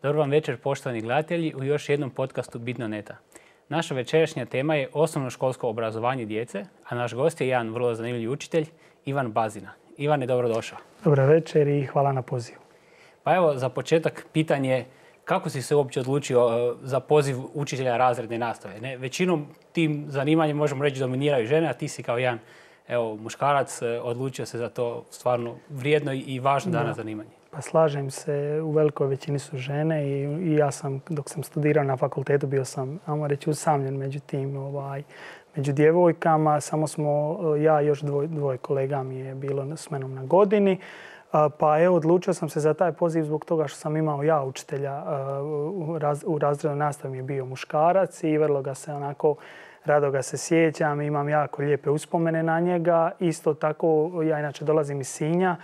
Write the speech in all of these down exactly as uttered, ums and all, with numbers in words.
Dobar vam večer, poštovani gledatelji, u još jednom podcastu Bitno neta. Naša večerašnja tema je osnovnoškolsko obrazovanje djece, a naš gost je jedan vrlo zanimljiv učitelj, Ivan Bazina. Ivane, dobrodošao. Dobar večer i hvala na pozivu. Pa evo, za početak pitanje, kako si se uopće odlučio za poziv učitelja razredne nastave? Ne? Većinom tim zanimanjem, možemo reći, dominiraju žene, a ti si kao jedan evo, muškarac odlučio se za to stvarno vrijedno i važno danas zanimanje. Pa slažem se, u velikoj većini su žene i, i ja sam, dok sam studirao na fakultetu, bio sam, ajmo reći, usamljen među tim, ovaj, među djevojkama. Samo smo, ja i još dvoj, dvoje kolega mi je bilo s menom na godini. Pa evo, odlučio sam se za taj poziv zbog toga što sam imao ja učitelja u, raz, u razrednoj nastavi mi je bio muškarac i vrlo ga se onako, rado ga se sjećam, imam jako lijepe uspomene na njega. Isto tako, ja inače dolazim iz Sinja.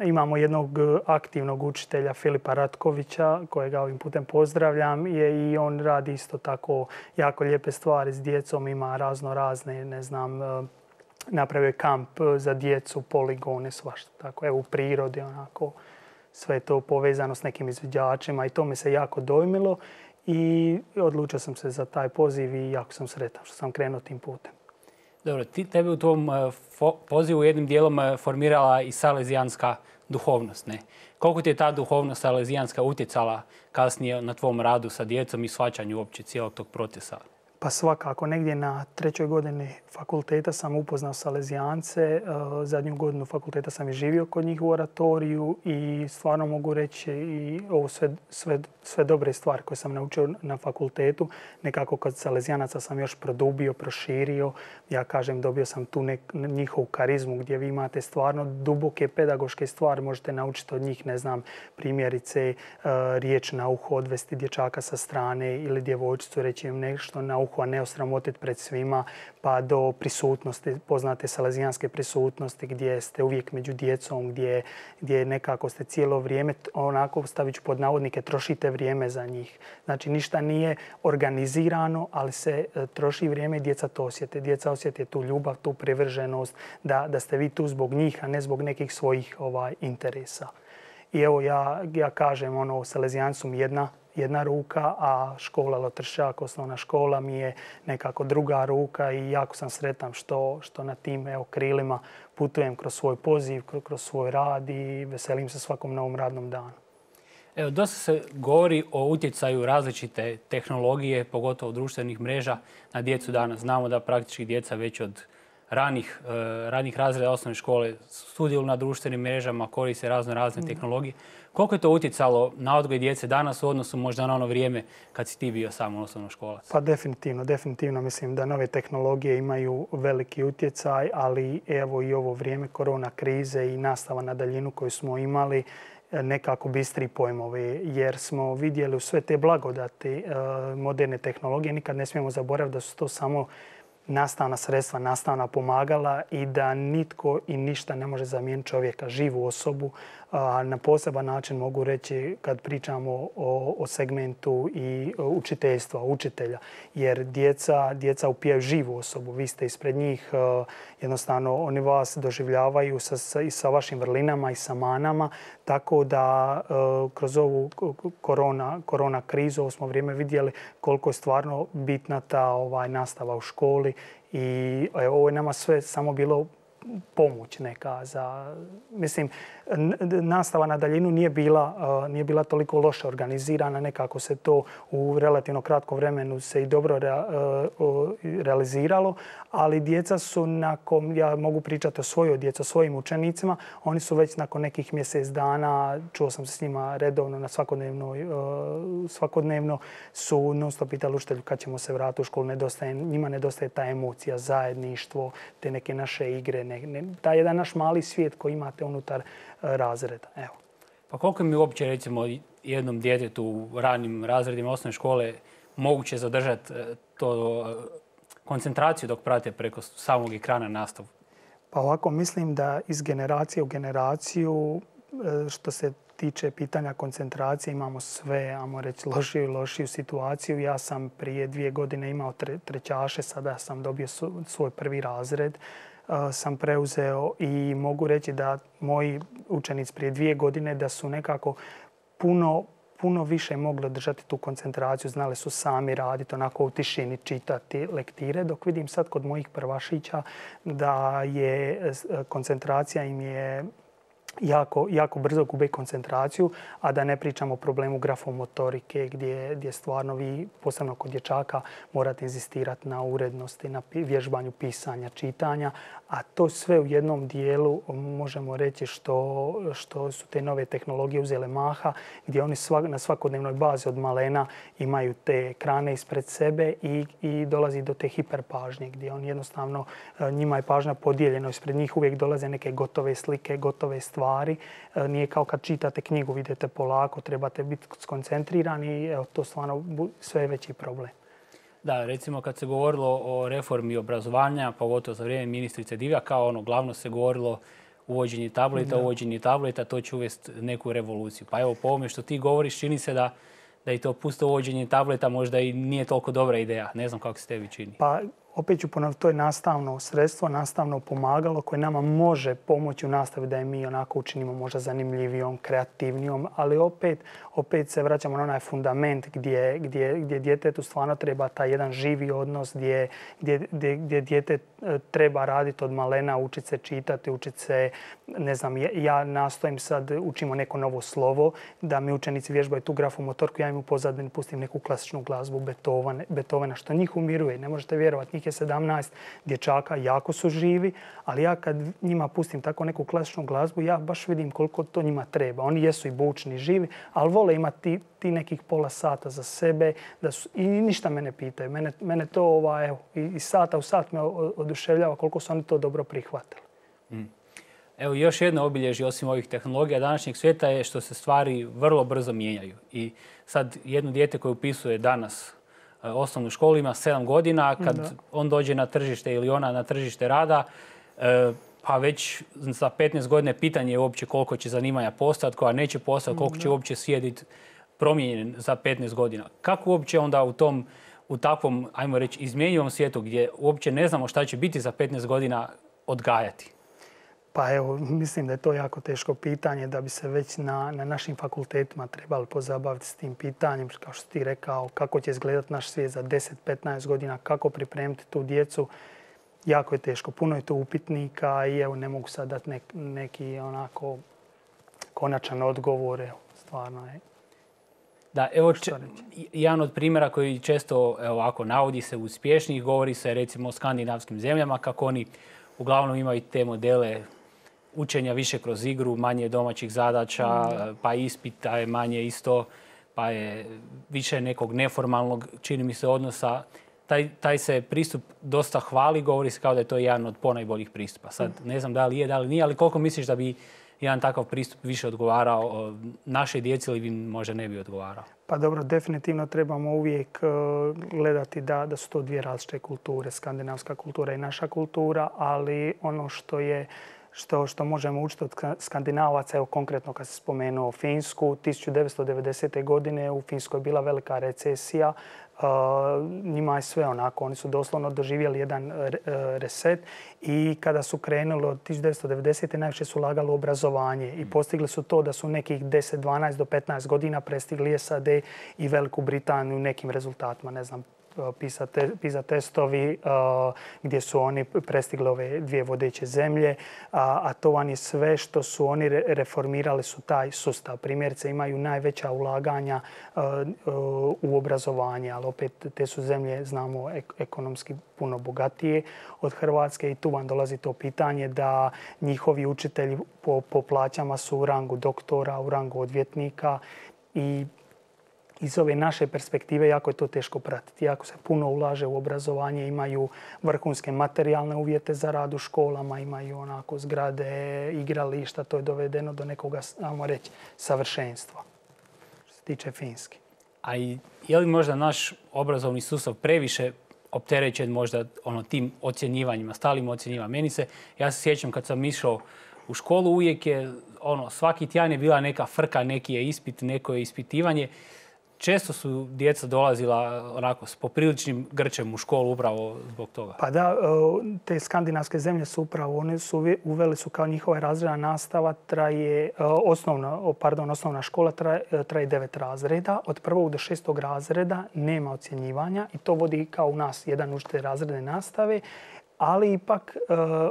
Imamo jednog aktivnog učitelja, Filipa Ratkovića, kojega ovim putem pozdravljam. Je, I on radi isto tako jako lijepe stvari s djecom, ima razno razne, ne znam, napravio je kamp za djecu, poligone, svašta tako. Evo u prirodi, onako, sve to povezano s nekim izviđačima i to me se jako dojmilo. I odlučio sam se za taj poziv i jako sam sretan što sam krenuo tim putem. Dobro, ti, tebe u tvom pozivu jednim dijelom formirala i salezijanska duhovnost. Ne? Koliko ti je ta duhovnost salezijanska utjecala kasnije na tvom radu sa djecom i shvaćanju uopće cijelog tog procesa? Pa svakako, negdje na trećoj godini fakulteta sam upoznao salezijance. Zadnju godinu fakulteta sam i živio kod njih u oratoriju i stvarno mogu reći i ovo sve, sve, sve dobre stvari koje sam naučio na fakultetu. Nekako kod salezijanaca sam još produbio, proširio. Ja kažem, dobio sam tu nek, njihovu karizmu gdje vi imate stvarno duboke pedagoške stvari. Možete naučiti od njih, ne znam, primjerice riječ na uho, odvesti dječaka sa strane ili djevojčicu, reći im nešto na uho, a ne osramotiti pred svima, pa do prisutnosti, poznate salezijanske prisutnosti gdje ste uvijek među djecom, gdje, gdje nekako ste cijelo vrijeme, onako stavit ću pod navodnike, trošite vrijeme za njih. Znači ništa nije organizirano, ali se troši vrijeme i djeca to osjete. Djeca osjete tu ljubav, tu privrženost, da, da ste vi tu zbog njih, a ne zbog nekih svojih ovaj, interesa. I evo ja, ja kažem, ono, Salezijanci su mi jedna jedna ruka, a škola Lotršćak, osnovna škola, mi je nekako druga ruka i jako sam sretan što, što na tim evo, krilima putujem kroz svoj poziv, kroz svoj rad i veselim se svakom novom radnom danu. Evo, dosta se govori o utjecaju različite tehnologije, pogotovo društvenih mreža, na djecu danas. Znamo da praktički djeca već od ranih, uh, ranih razreda osnovne škole sudjeluju na društvenim mrežama, koriste razno razne tehnologije. Koliko je to utjecalo na odgoj djece danas u odnosu možda na ono vrijeme kad si ti bio samo osnovnoškolac? Pa definitivno, definitivno mislim da nove tehnologije imaju veliki utjecaj, ali evo i ovo vrijeme korona krize i nastava na daljinu koju smo imali nekako bistri pojmovi, jer smo vidjeli u sve te blagodati uh, moderne tehnologije. Nikad ne smijemo zaboraviti da su to samo nastavna sredstva, nastavna pomagala i da nitko i ništa ne može zamijeniti čovjeka, živu osobu. Na poseban način mogu reći kad pričamo o, o segmentu i učiteljstva, učitelja, jer djeca, djeca upijaju živu osobu. Vi ste ispred njih, jednostavno oni vas doživljavaju sa, sa, i sa vašim vrlinama i sa manama, tako da kroz ovu korona, korona krizu, ovo smo vrijeme vidjeli koliko je stvarno bitna ta ovaj, nastava u školi i ovo je nama sve samo bilo pomoć neka za, mislim, nastava na daljinu nije bila, nije bila toliko loše organizirana, nekako se to u relativno kratkom vremenu se i dobro rea, realiziralo, ali djeca su nakon, ja mogu pričati o svojoj djeci, o svojim učenicima, oni su već nakon nekih mjesec dana, čuo sam se s njima redovno na svakodnevnoj, svakodnevno su non stop pitali učitelju kad ćemo se vratiti u školu, nedostaje, njima nedostaje ta emocija, zajedništvo, te neke naše igre, ne, ne, taj jedan naš mali svijet koji imate unutar razreda. Evo. Pa koliko mi uopće recimo jednom djetetu u ranim razredima osnovne škole moguće zadržati to koncentraciju dok prate preko samog ekrana nastavu? Pa ovako mislim da iz generacije u generaciju što se tiče pitanja koncentracije imamo sve, ajmo reći, lošiju i lošiju situaciju. Ja sam prije dvije godine imao tre, trećaše, sada sam dobio svoj prvi razred. Sam preuzeo i mogu reći da moji učenici prije dvije godine da su nekako puno puno više mogli održati tu koncentraciju, znali su sami raditi, onako u tišini čitati lektire, dok vidim sad kod mojih prvašića da je koncentracija im je jako, jako brzo gube koncentraciju, a da ne pričamo o problemu grafomotorike gdje, gdje stvarno vi, posebno kod dječaka, morate inzistirati na urednosti, na vježbanju pisanja, čitanja, a to sve u jednom dijelu možemo reći što, što su te nove tehnologije uzele maha, gdje oni svak, na svakodnevnoj bazi od malena imaju te ekrane ispred sebe i, i dolazi do te hiperpažnje, gdje on jednostavno, njima je pažnja podijeljena, ispred njih uvijek dolaze neke gotove slike, gotove stvari. Nije kao kad čitate knjigu, vidite polako, trebate biti skoncentrirani i evo, to stvarno sve je veći problem. Da, recimo kad se govorilo o reformi obrazovanja, pogotovo za vrijeme ministrice Divjak, kao ono glavno se govorilo uvođenje tableta, da. uvođenje tableta, to će uvesti neku revoluciju. Pa evo po ovome što ti govoriš, čini se da, da i to pusto uvođenje tableta možda i nije toliko dobra ideja. Ne znam kako se tebi čini. Pa opet ću ponoviti, to je nastavno sredstvo, nastavno pomagalo koje nama može pomoći u nastavi da je mi onako učinimo možda zanimljivijom, kreativnijom, ali opet, opet se vraćamo na onaj fundament gdje, gdje, gdje djetetu stvarno treba taj jedan živi odnos, gdje, gdje, gdje, gdje dijete treba raditi od malena, učiti se čitati, učiti se, ne znam, ja nastojim sad, učimo neko novo slovo, da mi učenici vježbaju tu grafomotorku, ja im u pozadini pustim neku klasičnu glazbu Beethovena, Beethovena što njih umiruje, ne možete vjerovati, njih je sedamnaest dječaka, jako su živi, ali ja kad njima pustim tako neku klasičnu glazbu, ja baš vidim koliko to njima treba. Oni jesu i bučni, živi, ali vole imati ti nekih pola sata za sebe da su, i ništa me ne pitaju. Mene, mene to ova, evo, i sata u sat me oduševljava koliko su oni to dobro prihvatili. Mm. Evo još jedno obilježje osim ovih tehnologija današnjeg svijeta je što se stvari vrlo brzo mijenjaju. I sad jedno dijete koje upisuje danas osnovnu školu ima sedam godina, kad da. on dođe na tržište ili ona na tržište rada, pa već za petnaest godina pitanje je uopće koliko će zanimanja postati, koja neće postati, koliko će uopće sjediti promijenjen za petnaest godina. Kako uopće onda u tom, u takvom, ajmo reći, izmjenjivom svijetu gdje uopće ne znamo šta će biti za petnaest godina odgajati? Pa evo, mislim da je to jako teško pitanje, da bi se već na, na našim fakultetima trebali pozabaviti s tim pitanjem, kao što ti rekao, kako će izgledati naš svijet za deset do petnaest godina, kako pripremiti tu djecu. Jako je teško, puno je to upitnika i evo, ne mogu sad dati nek, neki onako konačan odgovor, evo, stvarno je. Da, evo, če, jedan od primjera koji često evo, ovako navodi se uspješnijih, govori se recimo o skandinavskim zemljama, kako oni uglavnom imaju te modele učenja više kroz igru, manje domaćih zadaća, mm. pa ispita je manje isto, pa je više nekog neformalnog, čini mi se, odnosa. Taj, taj se pristup dosta hvali, govori se kao da je to jedan od ponajboljih pristupa. Sad ne znam da li je, da li nije, ali koliko misliš da bi jedan takav pristup više odgovarao našoj djeci ili možda ne bi odgovarao? Pa dobro, definitivno trebamo uvijek gledati da, da su to dvije različite kulture, skandinavska kultura i naša kultura, ali ono što je Što, što možemo učiti od Skandinavaca, evo konkretno kad se spomenuo Finsku, tisuću devetsto devedesete. godine u Finskoj je bila velika recesija. Uh, njima je sve onako, oni su doslovno doživjeli jedan reset i kada su krenuli od tisuću devetsto devedesete. najviše su ulagali u obrazovanje i postigli su to da su nekih deset, dvanaest do petnaest godina prestigli S A D i Veliku Britaniju nekim rezultatima, ne znam, PISA testovi gdje su oni prestigli ove dvije vodeće zemlje, a to vam je sve što su oni reformirali su taj sustav. Primjerice imaju najveća ulaganja u obrazovanje, ali opet te su zemlje, znamo, ekonomski puno bogatije od Hrvatske i tu vam dolazi to pitanje da njihovi učitelji po, po plaćama su u rangu doktora, u rangu odvjetnika i iz ove naše perspektive jako je to teško pratiti. Jako se puno ulaže u obrazovanje, imaju vrhunske materijalne uvjete za rad u školama, imaju onako zgrade, igrališta, to je dovedeno do nekoga, ajmo reći, savršenstva. Što se tiče Finske. A i je li možda naš obrazovni sustav previše opterećen možda ono, tim ocjenjivanjima, stalim ocjenjivanjima? Meni se, ja se sjećam kad sam išao u školu, uvijek je, ono, svaki tjedan je bila neka frka, neki je ispit, neko je ispitivanje. često su djeca dolazila onako s popriličnim grčem u školu upravo zbog toga. Pa da, te skandinavske zemlje su upravo, one su uveli su kao njihova razredna nastava traje, osnovna, pardon, osnovna škola traje, traje devet razreda. Od prvog do šestog razreda nema ocjenjivanja i to vodi kao u nas jedan učitelj razredne nastave. Ali ipak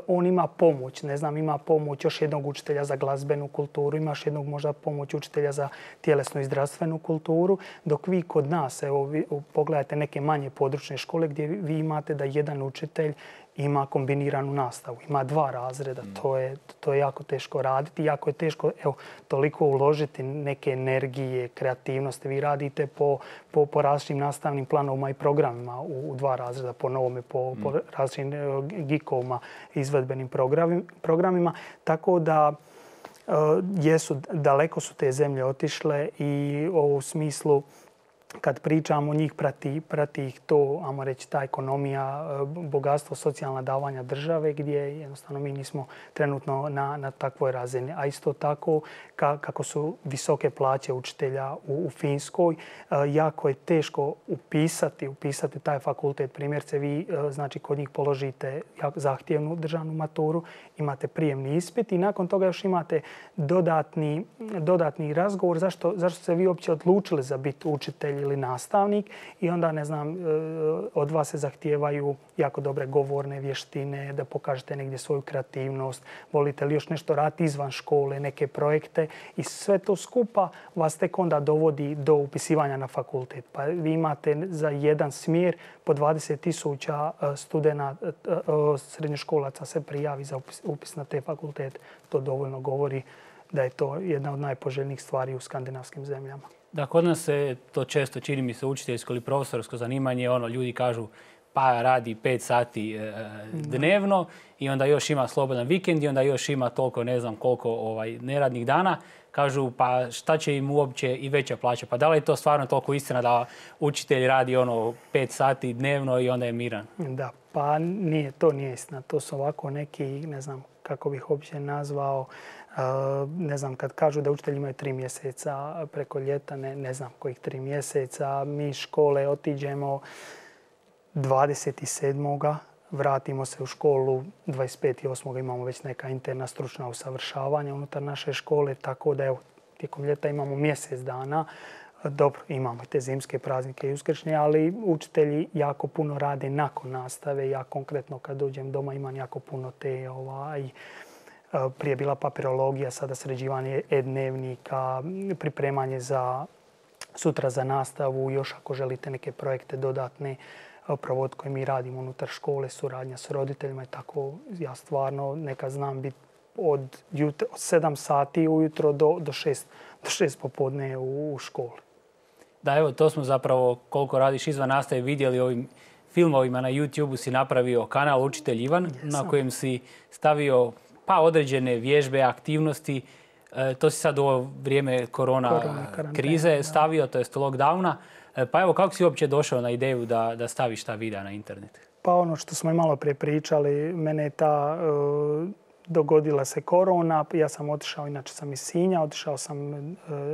on ima pomoć, ne znam, ima pomoć još jednog učitelja za glazbenu kulturu, imaš jednog možda pomoć učitelja za tjelesnu i zdravstvenu kulturu, dok vi kod nas, evo, vi pogledajte neke manje područne škole gdje vi imate da jedan učitelj ima kombiniranu nastavu, ima dva razreda. Mm. To je, to je jako teško raditi, jako je teško evo, toliko uložiti neke energije, kreativnosti. Vi radite po, po, po različitim nastavnim planovima i programima u, u dva razreda, po novome, po, mm. po različitim gikovima, izvedbenim programima. Tako da uh, jesu, daleko su te zemlje otišle i u smislu kad pričamo, njih prati, prati ih to, ajmo reći, ta ekonomija, bogatstvo, socijalna davanja države gdje jednostavno mi nismo trenutno na, na takvoj razini. A isto tako, ka, kako su visoke plaće učitelja u, u Finskoj, jako je teško upisati, upisati taj fakultet. Primjerce, vi znači kod njih položite zahtjevnu državnu maturu, imate prijemni ispit i nakon toga još imate dodatni, dodatni razgovor zašto, zašto se vi uopće odlučili za biti učitelj ili nastavnik i onda, ne znam, od vas se zahtijevaju jako dobre govorne vještine, da pokažete negdje svoju kreativnost, volite li još nešto raditi izvan škole, neke projekte i sve to skupa vas tek onda dovodi do upisivanja na fakultet. Pa vi imate za jedan smjer po dvadeset tisuća studenata, srednjoškolaca se prijavi za upis, upis na te fakultete. To dovoljno govori da je to jedna od najpoželjnijih stvari u skandinavskim zemljama. Da, kod nas se to često čini mi se učiteljsko ili profesorsko zanimanje, ono, ljudi kažu pa radi pet sati e, dnevno i onda još ima slobodan vikend i onda još ima toliko, ne znam koliko ovaj, neradnih dana. Kažu pa šta će im uopće i veća plaća. Pa da li je to stvarno toliko istina da učitelj radi ono pet sati dnevno i onda je miran? Da, pa nije, to nije istina. To su ovako neki, ne znam kako bih uopće nazvao, ne znam, kad kažu da učitelji imaju tri mjeseca preko ljeta, ne, ne znam kojih tri mjeseca. Mi škole otiđemo dvadeset sedmoga vratimo se u školu dvadeset peti osmoga imamo već neka interna stručna usavršavanja unutar naše škole, tako da evo, tijekom ljeta imamo mjesec dana. Dobro, imamo te zimske praznike i uskršnje, ali učitelji jako puno rade nakon nastave. Ja konkretno kad dođem doma imam jako puno te ovaj, prije je bila papirologija, sada sređivanje e-dnevnika, pripremanje za sutra za nastavu, još ako želite neke projekte dodatne provod koje mi radimo unutar škole, suradnja s roditeljima i tako. Ja stvarno nekad znam biti od, jutra, od sedam sati ujutro do, do, šest, do šest popodne u, u školi. Da, evo, to smo zapravo, koliko radiš izvan nastave, vidjeli ovim filmovima na YouTube-u si napravio kanal Učitelj Ivan, yes, na kojem si stavio pa određene vježbe, aktivnosti. E, to si sad u ovo vrijeme korona, korona krize stavio, to jest lockdowna. E, pa evo, kako si uopće došao na ideju da, da staviš ta videa na internet? Pa ono što smo i malo prije pričali, mene je ta... Uh, dogodila se korona, ja sam otišao, inače sam iz Sinja, otišao sam e,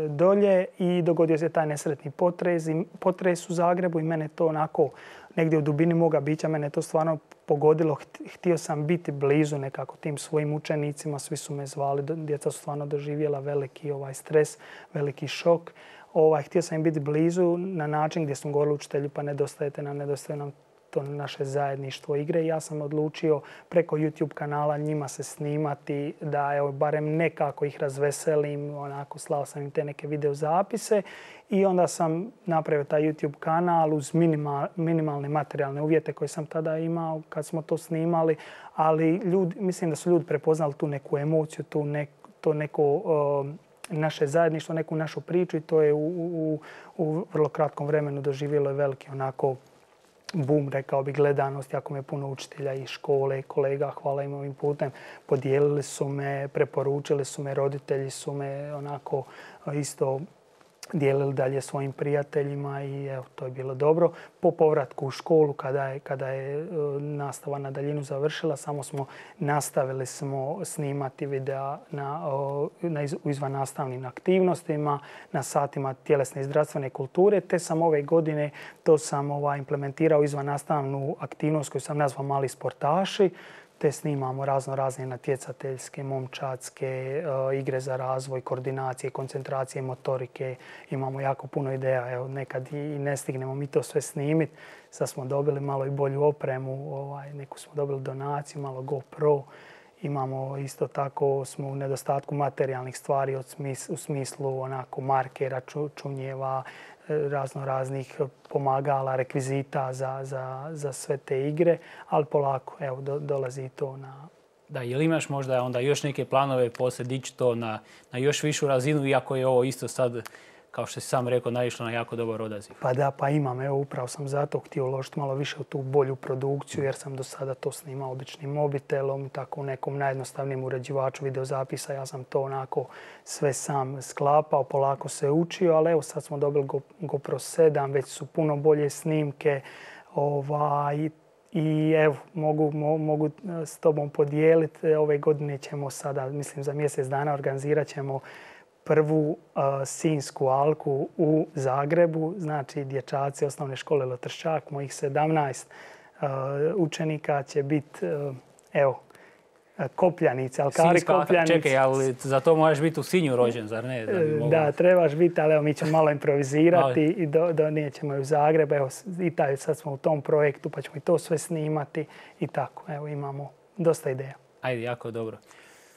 dolje i dogodio se taj nesretni potres, potres u Zagrebu i mene to onako negdje u dubini moga bića, mene to stvarno pogodilo. Htio sam biti blizu nekako tim svojim učenicima, svi su me zvali, djeca su stvarno doživjela veliki ovaj stres, veliki šok. Ovaj, htio sam im biti blizu na način gdje sam govorila učitelju pa nedostajete nam, nedostaje nam to naše zajedništvo igre. Ja sam odlučio preko YouTube kanala njima se snimati da evo, barem nekako ih razveselim. Onako, slao sam im te neke video zapise i onda sam napravio taj YouTube kanal uz minimal, minimalne materijalne uvjete koje sam tada imao kad smo to snimali. Ali ljudi, mislim da su ljudi prepoznali tu neku emociju, tu ne, to neko uh, naše zajedništvo, neku našu priču i to je u, u, u vrlo kratkom vremenu doživjelo je veliki onako boom, rekao bi, gledanost. Jako me puno učitelja i škole, kolega, hvala im ovim putem, podijelili su me, preporučili su me, roditelji su me onako isto dijelili dalje svojim prijateljima i evo, to je bilo dobro. Po povratku u školu, kada je, kada je nastava na daljinu završila, samo smo nastavili smo snimati videa na, na u izvannastavnim aktivnostima, na satima tjelesne i zdravstvene kulture, te sam ove godine to sam ovaj, implementirao izvannastavnu aktivnost koju sam nazvao Mali sportaši, te snimamo razno razne natjecateljske, momčadske, uh, igre za razvoj, koordinacije, koncentracije, motorike. Imamo jako puno ideja. Evo, nekad i ne stignemo mi to sve snimiti. Sad smo dobili malo i bolju opremu, ovaj, neku smo dobili donaciju, malo GoPro. Imamo isto tako, smo u nedostatku materijalnih stvari od smis, u smislu onako markera, ču, čunjeva, razno raznih pomagala, rekvizita za, za, za sve te igre, ali polako, evo, do, dolazi to na... Da, jel imaš možda onda još neke planove poslije dići to na, na još višu razinu, iako je ovo isto sad, kao što si sam rekao, naišlo na jako dobar odaziv? Pa da, pa imam. Evo, upravo sam zato htio uložiti malo više u tu bolju produkciju, jer sam do sada to snimao običnim mobitelom, tako u nekom najjednostavnijem uređivaču videozapisa. Ja sam to onako sve sam sklapao, polako se učio, ali evo sad smo dobili GoPro sedam, već su puno bolje snimke. Ovaj, I evo, mogu, mo, mogu s tobom podijeliti. Ove godine ćemo sada, mislim za mjesec dana, organizirat ćemo prvu uh, Sinjsku alku u Zagrebu. Znači, dječaci osnovne škole Lotrščak, mojih sedamnaest uh, učenika će biti, uh, evo, kopljanice, alkari Sinjska, kopljanice. Čekaj, ali za to moraš biti u Sinju rođen, zar ne? Da, bi da trebaš biti, ali evo, mi ćemo malo improvizirati i do, donijet ćemo ju u Zagreb. Evo, i taj, sad smo u tom projektu, pa ćemo i to sve snimati i tako. Evo, imamo dosta ideja. Ajde, jako dobro.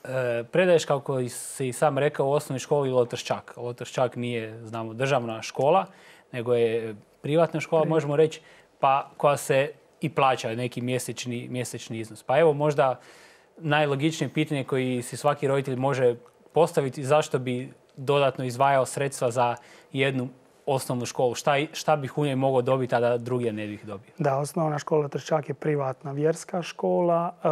E, predaješ, kako si sam rekao, u osnovnoj školi Lotrščak. Lotrščak nije, znamo, državna škola, nego je privatna škola, Pri... možemo reći, pa koja se i plaća neki mjesečni, mjesečni iznos. Pa evo možda najlogičnije pitanje koji si svaki roditelj može postaviti, zašto bi dodatno izdvajao sredstva za jednu osnovnu školu. Šta, šta bih u njoj mogao dobiti, a da druge ne bih dobio? Da, osnovna škola Lotrščak je privatna vjerska škola. E,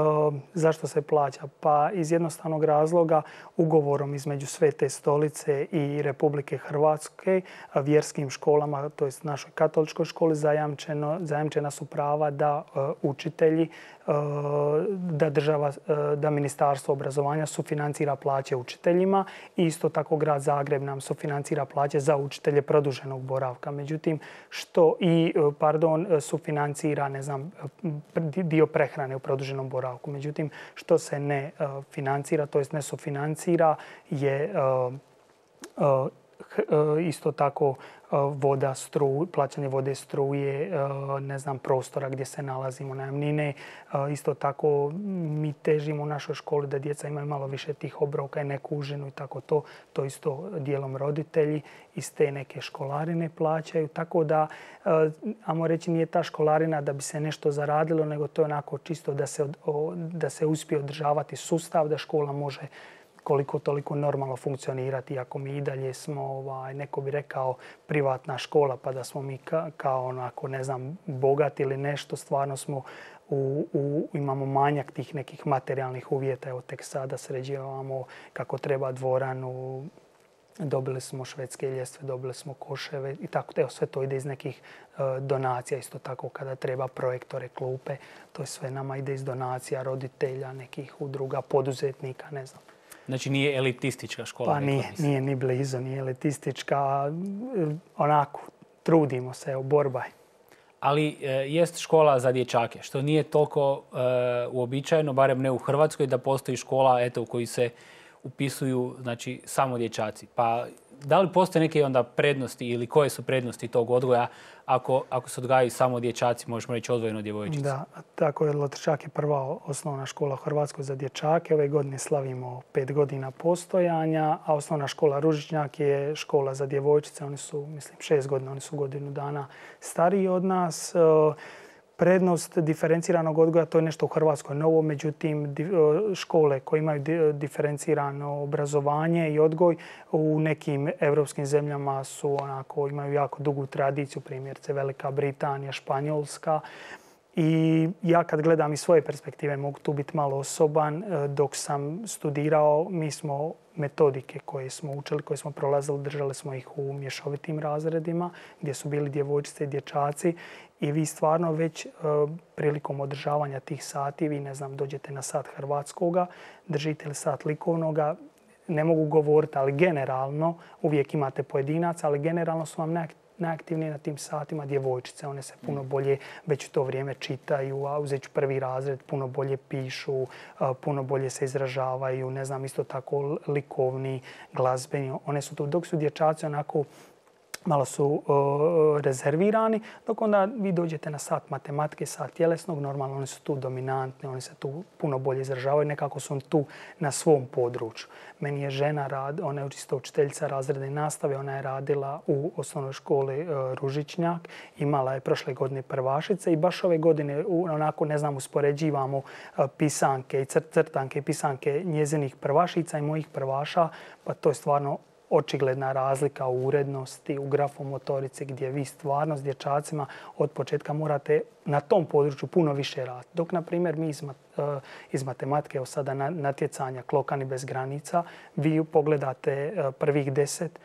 zašto se plaća? Pa iz jednostavnog razloga ugovorom između Svete stolice i Republike Hrvatske vjerskim školama, to jest našoj katoličkoj školi, zajamčeno, zajamčena su prava da e, učitelji, e, da država, e, da Ministarstvo obrazovanja sufinancira plaće učiteljima i isto tako grad Zagreb nam sufinancira plaće za učitelje produženog boravka. Međutim, što i, pardon, sufinancira, ne znam, dio prehrane u produženom boravku. Međutim, što se ne uh, financira, to jest ne sufinancira, je uh, uh, isto tako voda, struju, plaćanje vode, struje, ne znam, prostora gdje se nalazimo, najamnine. Isto tako mi težimo u našoj školi da djeca imaju malo više tih obroka i neku užinu i tako to. To isto dijelom roditelji iz te neke školarine plaćaju. Tako da, ajmo reći, nije ta školarina da bi se nešto zaradilo, nego to je onako čisto da se, da se uspije održavati sustav, da škola može koliko toliko normalno funkcionirati. Ako mi i dalje smo, ovaj, neko bi rekao, privatna škola, pa da smo mi ka, kao onako, ne znam, bogati ili nešto, stvarno smo u, u, imamo manjak tih nekih materijalnih uvjeta. Evo, tek sada sređivamo kako treba dvoranu, dobili smo švedske ljestve, dobili smo koševe i tako. Evo, sve to ide iz nekih uh, donacija. Isto tako kada treba projektore, klupe, to je sve nama ide iz donacija roditelja, nekih udruga, poduzetnika, ne znam. Znači nije elitistička škola? Pa nije, nije ni blizu, nije elitistička. Onako, trudimo se, evo, borba je. Ali e, jest škola za dječake, što nije toliko e, uobičajeno, barem ne u Hrvatskoj, da postoji škola eto, u kojoj se upisuju, znači, samo dječaci. Pa da li postoje neke onda prednosti ili koje su prednosti tog odgoja ako, ako se odgajaju samo dječaci, možemo reći odvojeno djevojčice? Da, tako je. Lotrščak je prva osnovna škola u Hrvatskoj za dječake. Ove godine slavimo pet godina postojanja, a osnovna škola Ružičnjak je škola za djevojčice. Oni su, mislim, šest godina, oni su godinu dana stariji od nas. Prednost diferenciranog odgoja, to je nešto u Hrvatskoj novo, međutim škole koje imaju diferencirano obrazovanje i odgoj u nekim evropskim zemljama su onako, imaju jako dugu tradiciju, primjerice Velika Britanija, Španjolska. I ja kad gledam iz svoje perspektive, mogu tu biti malo osoban, dok sam studirao, mi smo metodike koje smo učili, koje smo prolazili, držali smo ih u mješovitim razredima gdje su bili djevojčice i dječaci i vi stvarno već prilikom održavanja tih sati, vi ne znam, dođete na sat hrvatskoga, držite li sat likovnoga, ne mogu govoriti, ali generalno uvijek imate pojedinaca, ali generalno su vam najaktivnije na tim satima djevojčice. One se puno bolje već u to vrijeme čitaju, a uzet ću prvi razred, puno bolje pišu, puno bolje se izražavaju, ne znam, isto tako likovni, glazbeni. One su tu, dok su dječaci onako malo su uh, rezervirani, dok onda vi dođete na sat matematike, sat tjelesnog, normalno oni su tu dominantni, oni se tu puno bolje izražavaju, nekako su tu na svom području. Meni je žena, rad, ona je isto učiteljica razredne nastave, ona je radila u osnovnoj školi uh, Ružičnjak, imala je prošle godine prvašice i baš ove godine, onako ne znam, uspoređivamo uh, pisanke i crtanke i pisanke njezinih prvašica i mojih prvaša, pa to je stvarno očigledna razlika u urednosti, u grafomotorici gdje vi stvarno s dječacima od početka morate na tom području puno više raditi. Dok, na primjer, mi iz, iz matematike, evo sada natjecanja Klokani bez granica, vi pogledate prvih deset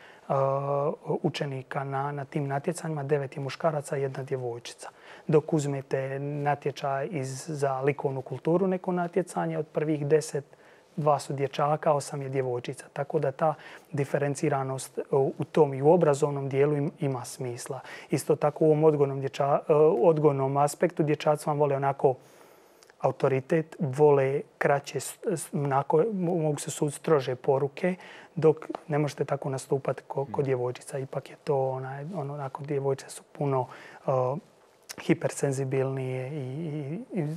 učenika na, na tim natjecanjima, devet je muškaraca, jedna djevojčica. Dok uzmete natječaj iz, za likovnu kulturu, neko natjecanje, od prvih deset dva su dječaka, osam je djevojčica. Tako da ta diferenciranost u tom i u obrazovnom dijelu ima smisla. Isto tako u ovom odgojnom, dječa, odgojnom aspektu dječaci vam vole onako autoritet, vole kraće, onako, mogu se sud strože poruke, dok ne možete tako nastupati kod ko djevojčica. Ipak je to, onaj, ono, onako, djevojčice su puno uh, hipersenzibilnije i, i, i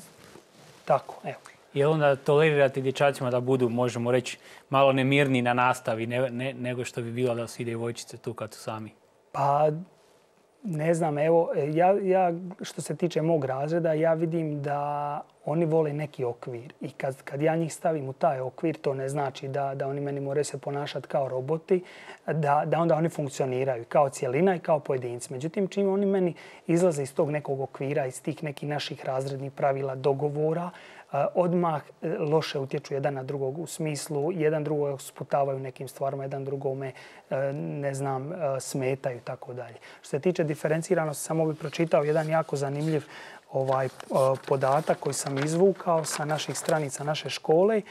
tako, evo. Je onda tolerirati dječacima da budu, možemo reći, malo nemirni na nastavi ne, ne, nego što bi bilo da su i djevojčice tu kad su sami? Pa, ne znam, evo, ja, ja što se tiče mog razreda, ja vidim da oni vole neki okvir. I kad, kad ja njih stavim u taj okvir, to ne znači da, da oni meni moraju se ponašati kao roboti, da, da onda oni funkcioniraju kao cijelina i kao pojedinci. Međutim, čim oni meni izlaze iz tog nekog okvira, iz tih nekih naših razrednih pravila, dogovora, odmah loše utječu jedan na drugog u smislu, jedan drugog sputavaju nekim stvarima, jedan drugome, ne znam, smetaju i tako dalje. Što se tiče diferenciranosti, samo bih pročitao jedan jako zanimljiv ovaj podatak koji sam izvukao sa naših stranica naše škole,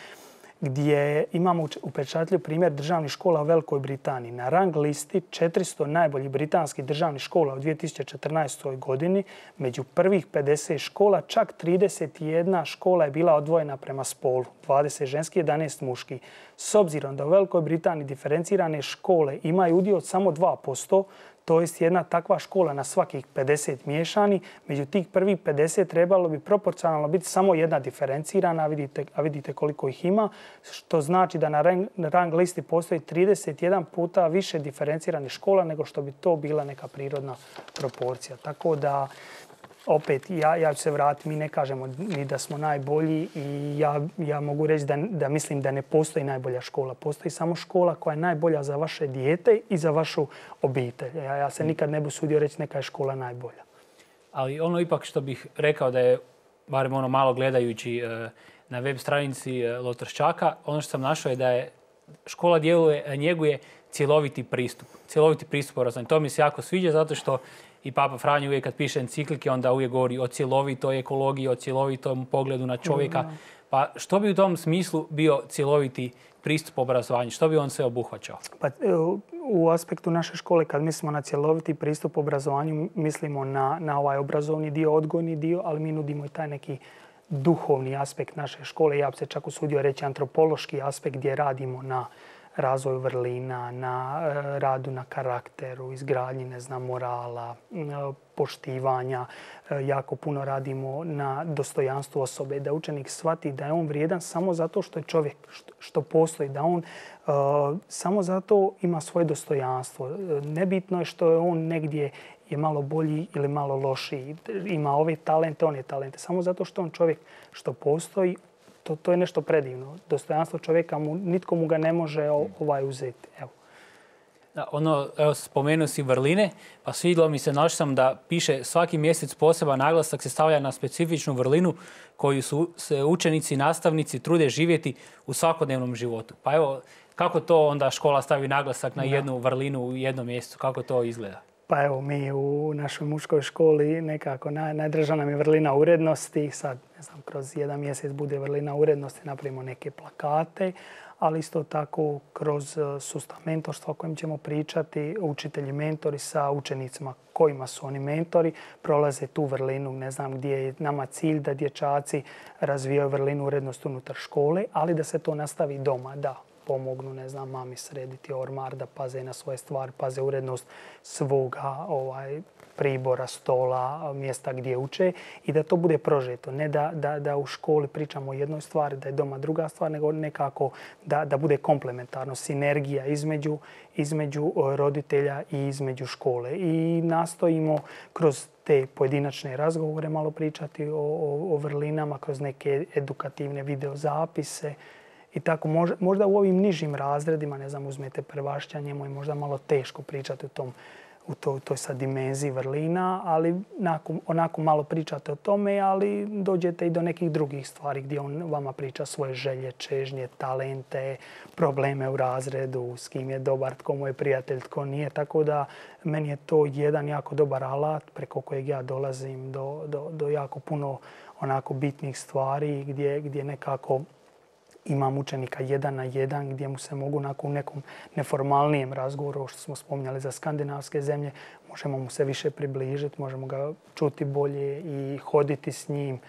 gdje imamo upečatljiv primjer državnih škola u Velikoj Britaniji. Na rang listi četiristo najboljih britanskih državnih škola u dvije tisuće četrnaestoj. godini među prvih pedeset škola čak trideset jedna škola je bila odvojena prema spolu, dvadeset ženski, jedanaest muški. S obzirom da u Velikoj Britaniji diferencirane škole imaju udio od samo dva posto, to jest jedna takva škola na svakih pedeset miješani, među tih prvih pedeset trebalo bi proporcionalno biti samo jedna diferencirana, a vidite, a vidite koliko ih ima, što znači da na rang, na rang listi postoji trideset jedan puta više diferenciranih škola nego što bi to bila neka prirodna proporcija. Tako da, opet, ja, ja ću se vratiti, mi ne kažemo ni da smo najbolji i ja, ja mogu reći da, da mislim da ne postoji najbolja škola. Postoji samo škola koja je najbolja za vaše dijete i za vašu obitelj. Ja, ja se nikad ne bih usudio reći neka je škola najbolja. Ali ono ipak što bih rekao da je, barem ono malo gledajući na web stranici Lotrščaka, ono što sam našao je da je škola djeluje, njeguje cjeloviti pristup. Cjeloviti pristup obrazovanju. To mi se jako sviđa zato što i Papa Franjo uvijek kad piše enciklike, onda uvijek govori o cjelovitoj ekologiji, o cjelovitom pogledu na čovjeka. Pa što bi u tom smislu bio cjeloviti pristup obrazovanju? Što bi on sve obuhvaćao? Pa, u aspektu naše škole, kad mislimo na cjeloviti pristup obrazovanju, mislimo na, na ovaj obrazovni dio, odgojni dio, ali mi nudimo i taj neki duhovni aspekt naše škole. Ja bi se čak usudio reći antropološki aspekt gdje radimo na razvoju vrlina, na radu na karakteru, izgradnji, ne znam, morala, poštivanja. Jako puno radimo na dostojanstvu osobe, da učenik shvati da je on vrijedan samo zato što je čovjek, što postoji, da on uh, samo zato ima svoje dostojanstvo. Nebitno je što je on negdje je malo bolji ili malo lošiji, ima ove talente, one talente. Samo zato što on čovjek što postoji, To, to je nešto predivno. Dostojanstvo čovjeka, mu, nitko mu ga ne može ovaj uzeti. Evo. Da, ono, evo, spomenuo si vrline, pa svidjelo mi se, našao sam da piše svaki mjesec poseban naglasak se stavlja na specifičnu vrlinu koju su se učenici i nastavnici trude živjeti u svakodnevnom životu. Pa evo, Kako to onda škola stavi naglasak na jednu vrlinu u jednom mjestu? Kako to izgleda? Pa evo, mi u našoj muškoj školi nekako naj, najdraža nam je vrlina urednosti. Sad, ne znam, kroz jedan mjesec bude vrlina urednosti, napravimo neke plakate, ali isto tako kroz sustav mentorstva o kojem ćemo pričati, učitelji mentori sa učenicima kojima su oni mentori, prolaze tu vrlinu, ne znam gdje je nama cilj da dječaci razvijaju vrlinu urednosti unutar škole, ali da se to nastavi doma, da pomognu, ne znam, mami srediti ormar, da paze na svoje stvari, paze urednost svoga ovaj, pribora, stola, mjesta gdje uče i da to bude prožeto. Ne da, da, da u školi pričamo o jednoj stvari, da je doma druga stvar, nego nekako da, da bude komplementarno, sinergija između, između roditelja i između škole. I nastojimo kroz te pojedinačne razgovore malo pričati o, o, o vrlinama, kroz neke edukativne videozapise. I tako možda, možda u ovim nižim razredima, ne znam, uzmete prvašćanje, mu je možda malo teško pričati u tom u toj, toj sad dimenziji vrlina, ali onako, onako malo pričate o tome, ali dođete i do nekih drugih stvari gdje on vama priča svoje želje, čežnje, talente, probleme u razredu, s kim je dobar, tko mu je prijatelj, tko nije. Tako da meni je to jedan jako dobar alat preko kojeg ja dolazim do, do, do jako puno onako bitnih stvari gdje, gdje nekako imam učenika jedan na jedan gdje mu se mogu nakon nekom neformalnijem razgovoru, što smo spominjali za skandinavske zemlje, možemo mu se više približiti, možemo ga čuti bolje i hoditi s njim,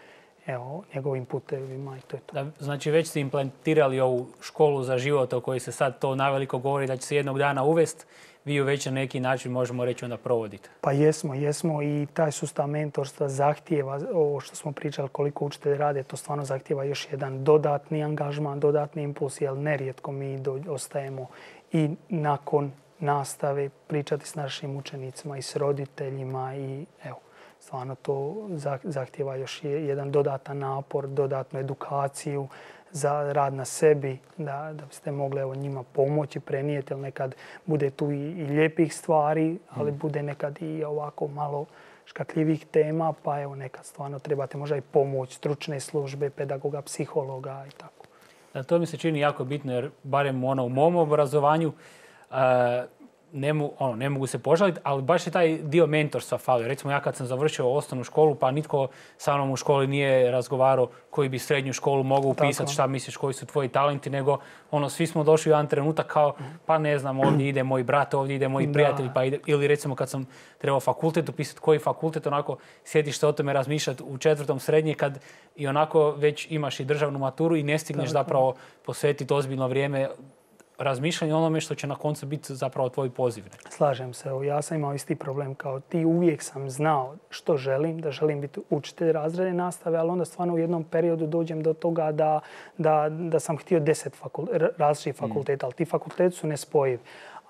evo, njegovim putevima i to je to. Da, znači već ste implementirali ovu školu za život o kojoj se sad to naveliko govori da će se jednog dana uvesti. Vi ju već na neki način, možemo reći, onda provodite. Pa jesmo, jesmo i taj sustav mentorstva zahtijeva, ovo što smo pričali koliko učitelji rade, to stvarno zahtijeva još jedan dodatni angažman, dodatni impuls, jer nerijetko mi do, ostajemo i nakon nastave pričati s našim učenicima i s roditeljima i evo, stvarno to zahtijeva još jedan dodatan napor, dodatnu edukaciju za rad na sebi, da, da biste mogli evo, njima pomoći, prenijeti, jer nekad bude tu i, i lijepih stvari, ali mm. bude nekad i ovako malo škakljivih tema, pa evo nekad stvarno trebate možda i pomoć stručne službe, pedagoga, psihologa i tako. Da, to mi se čini jako bitno, jer barem ono, u mom obrazovanju uh, ne, mu, ono, ne mogu se požaliti, ali baš je taj dio mentorstva falio. Recimo ja kad sam završio osnovnu školu, pa nitko sa mnom u školi nije razgovarao koji bi srednju školu mogao upisati, šta misliš, koji su tvoji talenti, nego ono, svi smo došli u jedan trenutak kao, pa ne znam, ovdje ide moj brat, ovdje ide moji prijatelji, pa ide, ili recimo kad sam trebao fakultet upisati, koji fakultet, onako sjediš se o tome razmišljati u četvrtom srednje kad i onako već imaš i državnu maturu i ne stigneš tako zapravo posvetiti ozbiljno vrijeme razmišljanje o onome što će na koncu biti zapravo tvoj poziv. Slažem se. Ja sam imao isti problem kao ti. Uvijek sam znao što želim, da želim biti učitelj razredne nastave, ali onda stvarno u jednom periodu dođem do toga da, da, da sam htio deset fakult, različitih fakulteta, ali ti fakulteti su nespojivi.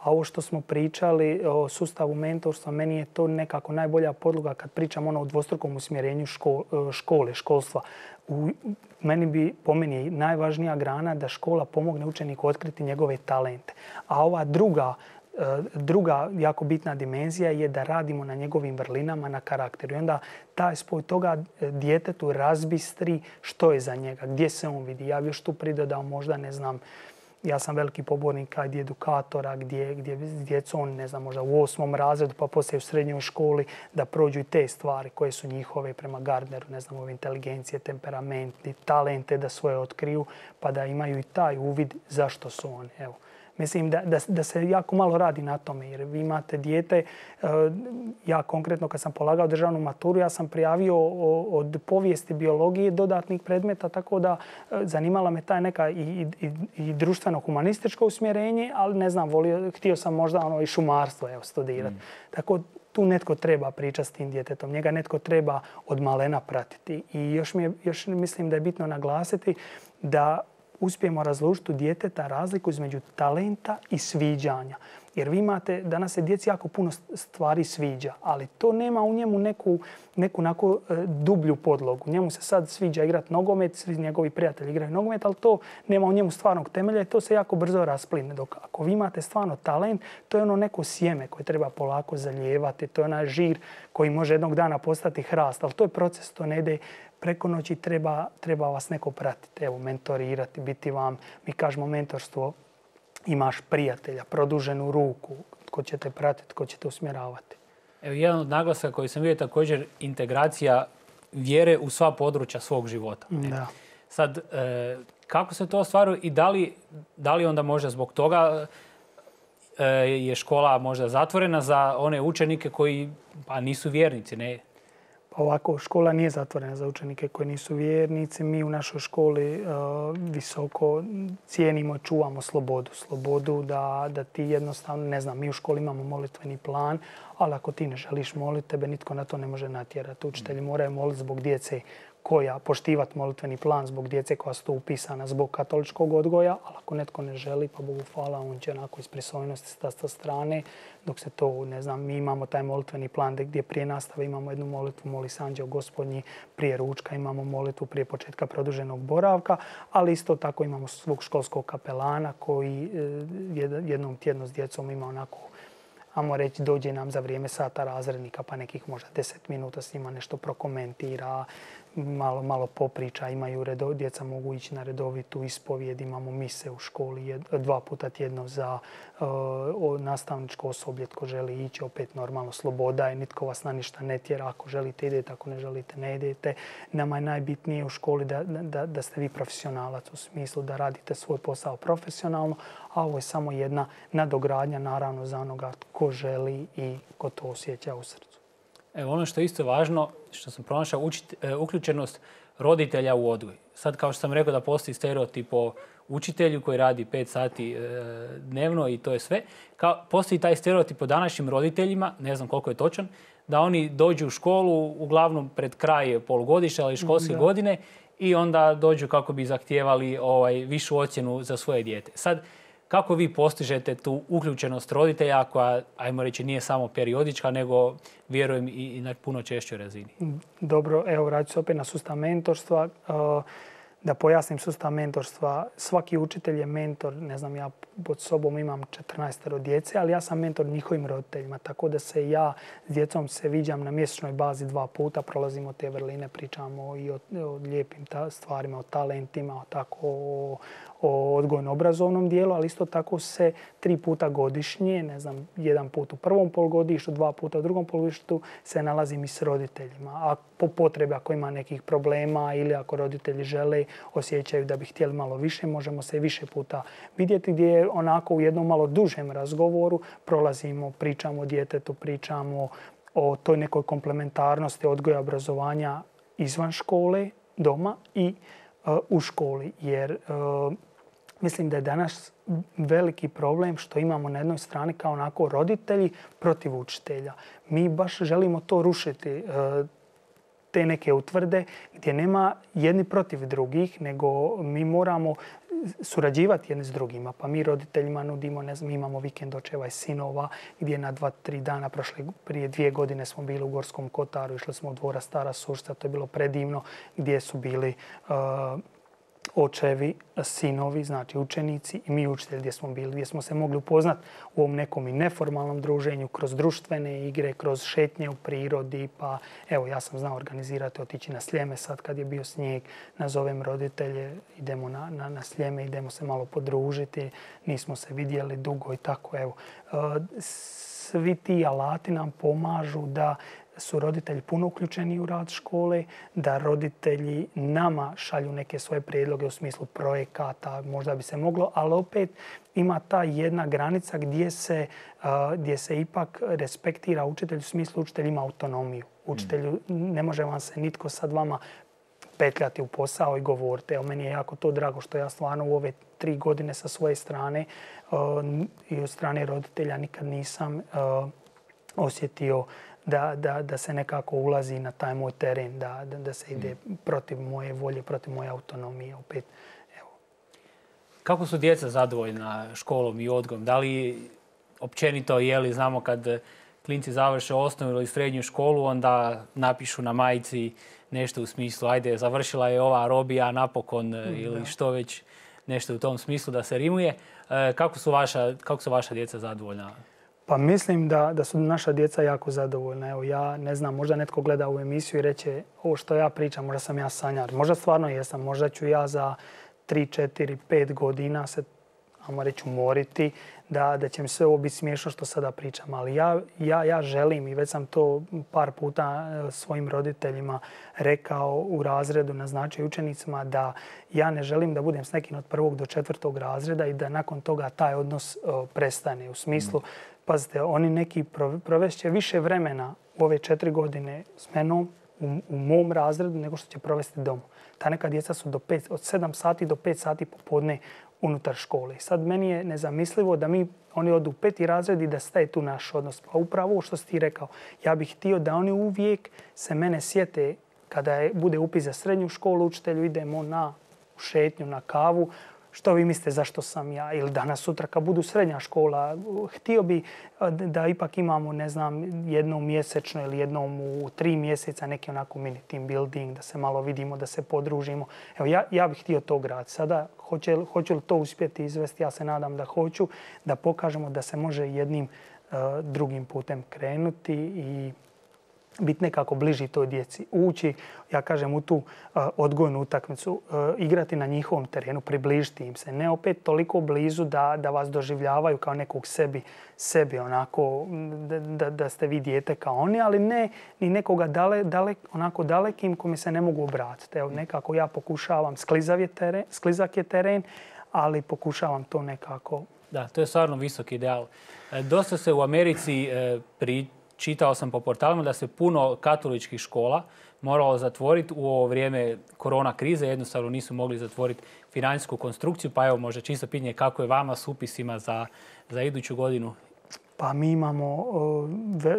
A ovo što smo pričali o sustavu mentorstva, meni je to nekako najbolja podloga kad pričam ono o dvostrukom usmjerenju škole, škole školstva. U, meni bi, po meni, najvažnija grana da škola pomogne učeniku otkriti njegove talente. A ova druga, druga jako bitna dimenzija je da radimo na njegovim vrlinama, na karakteru. I onda taj spoj toga djetetu razbistri što je za njega, gdje se on vidi. Ja bi još tu pridodao možda, ne znam, ja sam veliki pobornik kad edukatora gdje, gdje s djecom, ne znam, možda u osmom razredu pa poslije u srednjoj školi da prođu i te stvari koje su njihove prema Gardneru, ne znam, ove inteligencije, temperamenti, talente da svoje otkriju pa da imaju i taj uvid zašto su oni. Evo. Mislim da, da, da se jako malo radi na tome jer vi imate dijete, ja konkretno kad sam polagao državnu maturu, ja sam prijavio od povijesti biologije dodatnih predmeta, tako da zanimala me taj neka i, i, i društveno-humanističko usmjerenje, ali ne znam, volio, htio sam možda ono i šumarstvo evo, studirati. Mm. Tako tu netko treba pričati s tim djetetom, njega netko treba od malena pratiti. I još, mi je, još mislim da je bitno naglasiti da uspijemo razlučiti u djeteta razliku između talenta i sviđanja. Jer vi imate, danas se djeci jako puno stvari sviđa, ali to nema u njemu neku, neku nako, dublju podlogu. Njemu se sad sviđa igrati nogomet, svi njegovi prijatelji igraju nogomet, ali to nema u njemu stvarnog temelja i to se jako brzo raspline. Dok ako vi imate stvarno talent, to je ono neko sjeme koje treba polako zalijevati, to je onaj žir koji može jednog dana postati hrast, ali to je proces, to ne ide preko noći, treba, treba vas neko pratiti, evo, mentorirati, biti vam, mi kažemo mentorstvo, imaš prijatelja, produženu ruku, tko će te pratiti, tko će te usmjeravati. Evo, jedan od naglasaka koji sam vidio također integracija vjere u sva područja svog života. Da. Sad, e, kako se to ostvaruje i da li, da li onda možda zbog toga e, je škola možda zatvorena za one učenike koji pa, nisu vjernici, ne? Pa ovako, škola nije zatvorena za učenike koji nisu vjernici. Mi u našoj školi uh, visoko cijenimo i čuvamo slobodu. Slobodu da, da ti jednostavno, ne znam, mi u školi imamo molitveni plan, ali ako ti ne želiš moliti, tebe nitko na to ne može natjerati. Učitelji moraju moliti zbog djece koja poštivati molitveni plan, zbog djece koja su tu upisana zbog katoličkog odgoja, ali ako netko ne želi, pa Bogu hvala, on će onako iz pristojnosti stati sa strane, dok se to, ne znam, mi imamo taj molitveni plan gdje prije nastave imamo jednu molitvu, moli se Anđeo Gospodnji, prije ručka imamo molitvu prije početka produženog boravka, ali isto tako imamo svog školskog kapelana koji jednom tjedno s djecom ima onako, ajmo reći, dođe nam za vrijeme sata razrednika, pa nekih možda deset minuta s njima nešto prokomentira, malo, malo popriča, imaju redo, djeca mogu ići na redovitu ispovijed, imamo mise u školi jed, dva puta tjedno za uh, nastavničko osoblje, tko želi ići, opet normalno sloboda je, nitko vas na ništa ne tjera, ako želite idete, ako ne želite ne idete. Nama je najbitnije u školi da, da, da ste vi profesionalac u smislu da radite svoj posao profesionalno, a ovo je samo jedna nadogradnja naravno za onoga tko želi i ko to osjeća u srcu. Evo, ono što je isto važno, što sam pronašao, učit, e, uključenost roditelja u odgoj. Sad, kao što sam rekao da postoji stereotip o učitelju koji radi pet sati e, dnevno i to je sve. Kao, postoji taj stereotip o današnjim roditeljima, ne znam koliko je točan, da oni dođu u školu uglavnom pred kraj polugodišta ili školske da. godine i onda dođu kako bi zahtijevali ovaj, višu ocjenu za svoje dijete. Sad, kako vi postižete tu uključenost roditelja koja, ajmo reći, nije samo periodička, nego vjerujem i na puno češćoj razini? Dobro, evo vraću se opet na sustav mentorstva. Da pojasnim sustav mentorstva, svaki učitelj je mentor, ne znam, ja pod sobom imam četrnaestero djece, ali ja sam mentor njihovim roditeljima, tako da se ja s djecom se viđam na mjesečnoj bazi dva puta, prolazimo te vrline, pričamo i o, o lijepim ta, stvarima, o talentima, o, tako, o, o odgojno-obrazovnom dijelu, ali isto tako se tri puta godišnje, ne znam, jedan put u prvom polugodištu, dva puta u drugom polugodištu se nalazim i s roditeljima. A po potrebi, ako ima nekih problema ili ako roditelji žele, osjećaju da bi htjeli malo više, možemo se više puta vidjeti gdje onako u jednom malo dužem razgovoru prolazimo, pričamo o djetetu, pričamo o toj nekoj komplementarnosti odgoja obrazovanja izvan škole, doma i uh, u školi. Jer uh, mislim da je danas veliki problem što imamo na jednoj strani kao onako roditelji protiv učitelja. Mi baš želimo to rušiti, uh, te neke utvrde gdje nema jedni protiv drugih, nego mi moramo surađivati jedni s drugima. Pa mi roditeljima nudimo, ne znam, imamo vikend očeva i sinova gdje na dva, tri dana prošle, prije dvije godine smo bili u Gorskom Kotaru, išli smo u Dvora Stara Sušca, to je bilo predivno, gdje su bili uh, očevi, sinovi, znači učenici i mi učitelji gdje smo bili, gdje smo se mogli upoznati u ovom nekom i neformalnom druženju, kroz društvene igre, kroz šetnje u prirodi. Pa evo, ja sam znao organizirati, otići na Sljeme sad kad je bio snijeg, nazovem roditelje, idemo na, na, na Sljeme, idemo se malo podružiti, nismo se vidjeli dugo i tako. Evo, svi ti alati nam pomažu da su roditelji puno uključeni u rad škole, da roditelji nama šalju neke svoje prijedloge u smislu projekata, možda bi se moglo, ali opet ima ta jedna granica gdje se, uh, gdje se ipak respektira učitelj, u smislu učitelj ima autonomiju. Učitelju ne može vam se nitko sad vama petljati u posao i govoriti. Evo, meni je jako to drago što ja stvarno u ove tri godine sa svoje strane uh, i od strane roditelja nikad nisam uh, osjetio Da, da, da se nekako ulazi na taj moj teren, da, da, da se ide protiv moje volje, protiv moje autonomije. Opet, evo. Kako su djeca zadovoljna školom i odgojom? Da li općenito, je li znamo kad klinci završe osnovnu ili srednju školu, onda napišu na majici nešto u smislu ajde, završila je ova robija napokon mm, ili da. Što već nešto u tom smislu da se rimuje. Kako su vaša, kako su vaša djeca zadovoljna? Pa mislim da, da su naša djeca jako zadovoljna. Evo, ja ne znam, možda netko gleda ovu emisiju i reće ovo što ja pričam, možda sam ja sanjar. Možda stvarno jesam. Možda ću ja za tri, četiri, pet godina se ajmo reći, umoriti, da, da će mi sve ovo biti smiješno što sada pričam. Ali ja, ja, ja želim, i već sam to par puta svojim roditeljima rekao u razredu, naznačio učenicima, da ja ne želim da budem s nekim od prvog do četvrtog razreda i da nakon toga taj odnos o, prestane. U smislu, mm. pazite, oni neki provest će više vremena u ove četiri godine s menom u, u mom razredu nego što će provesti doma. Ta neka djeca su do pet, od sedam sati do pet sati popodne unutar škole. Sad meni je nezamislivo da mi, oni odu u peti razred i da staje tu naš odnos. Pa upravo što si ti rekao, ja bih htio da oni uvijek se mene sjete kada je, bude upis za srednju školu, učitelju idemo na šetnju, na kavu. Što vi mislite zašto sam ja? Ili danas sutra kad budu srednja škola, htio bi da ipak imamo, ne znam, jednom mjesečno ili jednom u tri mjeseca neki onako mini team building, da se malo vidimo, da se podružimo. Evo, ja, ja bih htio to graditi. Sada, hoće, hoću li to uspjeti izvesti? Ja se nadam da hoću, da pokažemo da se može jednim uh, drugim putem krenuti i biti nekako bliži toj djeci. Ući, ja kažem, u tu uh, odgojnu utakmicu, uh, igrati na njihovom terenu, približiti im se. Ne opet toliko blizu da, da vas doživljavaju kao nekog sebi, sebi onako, da, da, da ste vi dijete kao oni, ali ne ni nekoga dale, dale, onako dalekim kome se ne mogu obratiti. Evo, nekako ja pokušavam, sklizav je teren, sklizak je teren, ali pokušavam to nekako. Da, to je stvarno visok ideal. E, dosta se u Americi e, pri Čitao sam po portalima da se puno katoličkih škola moralo zatvoriti u ovo vrijeme korona krize. Jednostavno nisu mogli zatvoriti financijsku konstrukciju. Pa evo, možda čisto pitanje kako je vama s upisima za, za iduću godinu? Pa mi imamo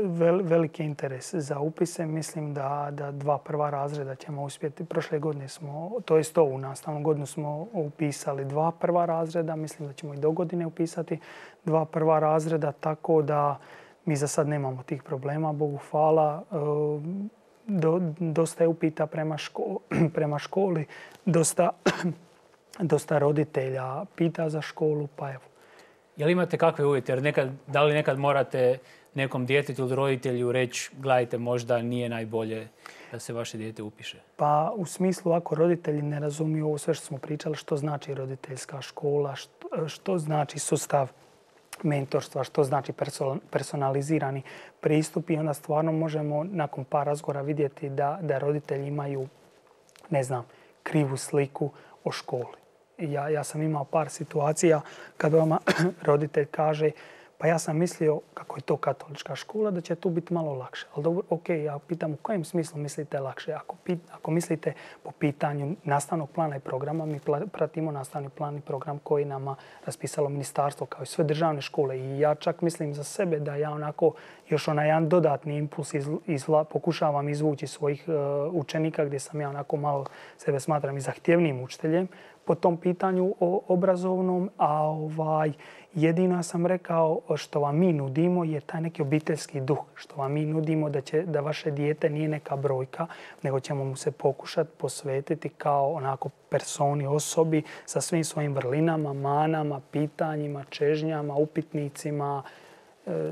vel, veliki interes za upise. Mislim da, da dva prva razreda ćemo uspjeti. Prošle godine smo, to jest ovu nastavnu godinu smo upisali dva prva razreda. Mislim da ćemo i do godine upisati dva prva razreda, tako da mi za sad nemamo tih problema, Bogu hvala. Do, dosta je upita prema, ško, prema školi, dosta, dosta roditelja pita za školu, pa evo. Je li imate kakve uvjete? Jer nekad, da li nekad morate nekom djetetu ili roditelju reći, gledajte, možda nije najbolje da se vaše dijete upiše? Pa u smislu, ako roditelji ne razumiju ovo sve što smo pričali, što znači roditeljska škola, što, što znači sustav mentorstva, što znači personalizirani pristup, i onda stvarno možemo nakon par razgovora vidjeti da, da roditelji imaju, ne znam, krivu sliku o školi. Ja, ja sam imao par situacija kad vama roditelj kaže, pa ja sam mislio kako je to katolička škola, da će tu biti malo lakše. Ali dobro, ok, ja pitam u kojem smislu mislite lakše? Ako, pit, ako mislite po pitanju nastavnog plana i programa, mi pratimo nastavni plan i program koji nama raspisalo ministarstvo kao i sve državne škole. I ja čak mislim za sebe da ja onako još onaj jedan dodatni impuls iz, izla, pokušavam izvući svojih uh, učenika, gdje sam ja onako malo sebe smatram i zahtjevnim učiteljem po tom pitanju o obrazovnom, a ovaj, jedino sam rekao što vam mi nudimo je taj neki obiteljski duh, što vam mi nudimo da, će, da vaše dijete nije neka brojka, nego ćemo mu se pokušati posvetiti kao onako personi, osobi sa svim svojim vrlinama, manama, pitanjima, čežnjama, upitnicima,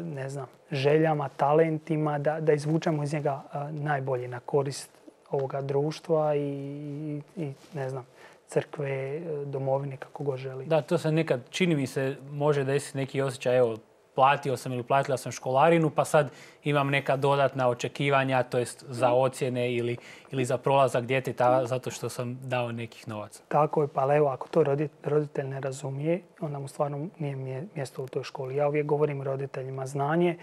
ne znam, željama, talentima, da, da izvučemo iz njega najbolje na korist ovoga društva i, i, i ne znam, crkve, domovine, kako god želi. Da, to se nekad, čini mi se, može desiti neki osjećaj, evo, platio sam ili platila sam školarinu, pa sad imam neka dodatna očekivanja, to jest za ocjene ili, ili za prolazak djeteta, zato što sam dao nekih novaca. Tako je, pa evo, ako to roditelj ne razumije, onda mu stvarno nije mjesto u toj školi. Ja uvijek govorim roditeljima, znanje,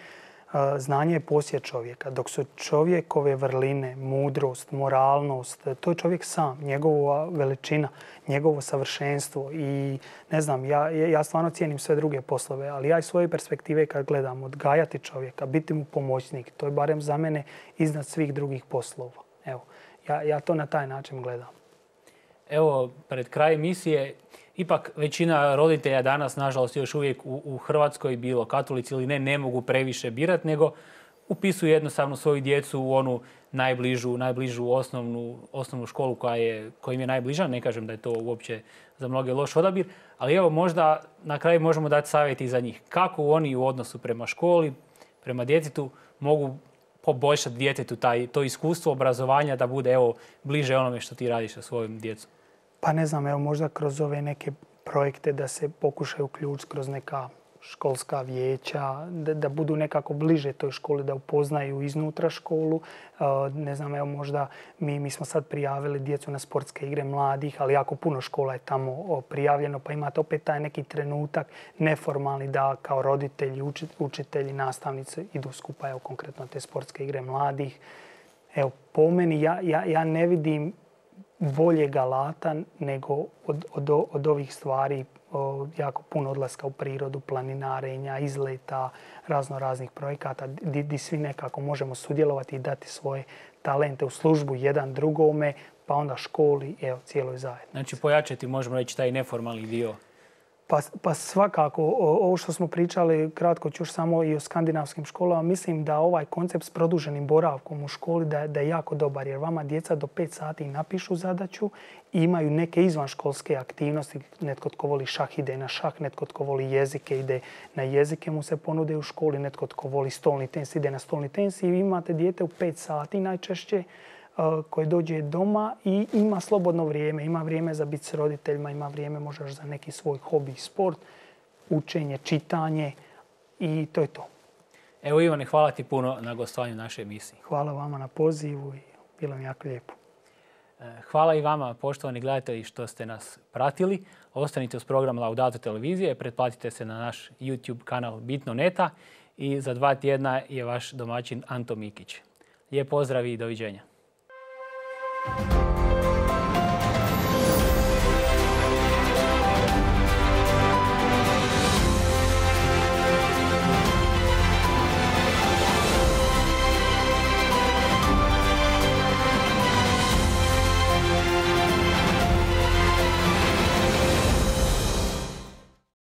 znanje je posjed čovjeka. Dok su čovjekove vrline, mudrost, moralnost, to je čovjek sam, njegova veličina, njegovo savršenstvo. I ne znam, ja, ja stvarno cijenim sve druge poslove, ali ja iz svoje perspektive kad gledam, odgajati čovjeka, biti mu pomoćnik, to je barem za mene iznad svih drugih poslova. Evo, ja, ja to na taj način gledam. Evo, pred kraj emisije, ipak većina roditelja danas, nažalost, još uvijek u, u Hrvatskoj, bilo katolici ili ne, ne mogu previše birati, nego upisuju jednostavno svoju djecu u onu najbližu, najbližu osnovnu, osnovnu školu koja, je, koja im je najbliža. Ne kažem da je to uopće za mnoge loš odabir, ali evo možda na kraju možemo dati savjet i za njih. Kako oni u odnosu prema školi, prema djetetu mogu poboljšati djetetu taj, to iskustvo obrazovanja da bude evo bliže onome što ti radiš sa svojim djecom? Pa ne znam, evo možda kroz ove neke projekte da se pokušaju uključiti kroz neka školska vijeća, da, da budu nekako bliže toj školi, da upoznaju iznutra školu. Ne znam, evo možda mi, mi smo sad prijavili djecu na sportske igre mladih, ali jako puno škola je tamo prijavljeno, pa imate opet taj neki trenutak neformalni da kao roditelji, učitelji, nastavnici idu skupa, evo konkretno te sportske igre mladih. Evo, po meni ja, ja, ja ne vidim boljeg alata nego od, od, od ovih stvari, o, jako puno odlaska u prirodu, planinarenja, izleta, razno raznih projekata gdje svi nekako možemo sudjelovati i dati svoje talente u službu jedan drugome, pa onda školi, evo, cijeloj zajednici. Znači pojačati, možemo reći, taj neformalni dio. Pa, pa svakako, ovo što smo pričali, kratko ću još samo i o skandinavskim školama, mislim da ovaj koncept s produženim boravkom u školi da, da je jako dobar, jer vama djeca do pet sati napišu zadaću i imaju neke izvanškolske aktivnosti. Netko tko voli šah ide na šah, netko tko voli jezike ide na jezike, mu se ponude u školi, netko tko voli stolni tenis ide na stolni tenis i vi imate dijete u pet sati najčešće koji dođe doma i ima slobodno vrijeme. Ima vrijeme za biti s roditeljima, ima vrijeme možda za neki svoj hobi, sport, učenje, čitanje i to je to. Evo Ivane, hvala ti puno na gostovanju naše emisije. Hvala vama na pozivu i bilo mi jako lijepo. Hvala i vama, poštovani gledatelji, što ste nas pratili. Ostanite uz program Laudato televizije, pretplatite se na naš YouTube kanal Bitno Neta i za dva tjedna je vaš domaćin Anto Mikić. Lijep pozdrav i doviđenja. Thank you.